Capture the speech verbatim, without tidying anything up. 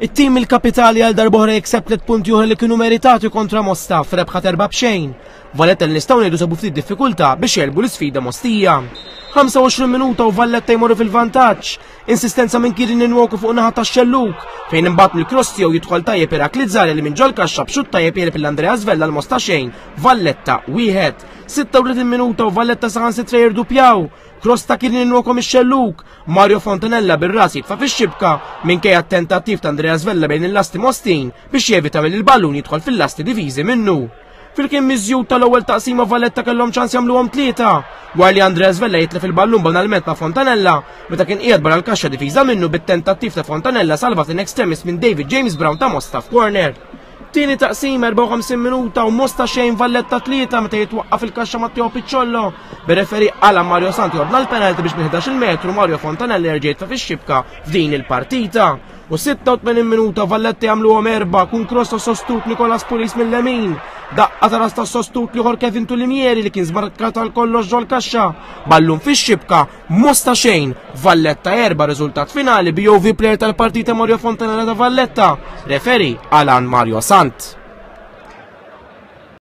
It-tim il-kapitali għal darb'oħra jikseb tliet punti oħra li kienu meritati kontra Mosta f'rebħa erba' b'xejn. Valletta li nistgħu ngħidu sabu ftit diffikultà biex jegħlbu l-isfida Mostija. ħamsa u għoxrin minuta u Valletta jmorru fil-vantaġġ. Insistenza minn Kirin Nwoku fuq naħa tax-xelluk, fejn imbagħad mill-cross tiegħu jidħol tajjeb Irakli Zari li minn ġol kaxxa b'xutt tajjeb jegħleb lil Andrea Svella l Mosta xejn, Valletta wieħed. Sitta u tletin minuta u Valletta saħansitra jirdupjaw. Cross ta' Kirin Nwoku mix-xelluk, Mario Fontanella bir-ras jitfa' fix-xibka minkejja t-tentattiv ta' Andrea Svella bejn il-lasti Mostin biex jevita milli l-ballun jidħol fil-lasti diviżi minnu. Fil-kien miżjud tal-ewwel taqsima Valletta kellhom ċans jagħmluhom tlieta, wara li Andrea Svella jitlef il-ballun banalment ma' Fontanella meta kien qiegħed barra l-kaxxa difiża minnu bit-tentattiv ta' Fontanella salvat in extremis minn David James Brown ta' Mosta f'corner. Tieni taqsim erbgħa u ħamsin minuta u Mosta xejn Valletta tlieta meta jitwaqqaf il-kaxxa Matteo Picciollo. Bir-referi Alan Mario Santi ordna l-penalti biex minn ħdax-il metru Mario Fontanella jerġa' jitfa' fix-xibka f'din il-partita. U sitta u tmenin minuta Valletta jagħmluhom erba' kun cross ta' sostut Nicolas Pulis mill-lemin. Daqqa ta' ras ta' sostut l-ieħor Kevin Tulimieri li kien żbarkat għal kollox ġol kaxxa. Ballun fix-xibka, Mosta xejn, Valletta erba' riżultat finali B O V player tal-partita Mario Fontanella ta' Valletta. Referi Alan Mario Sant.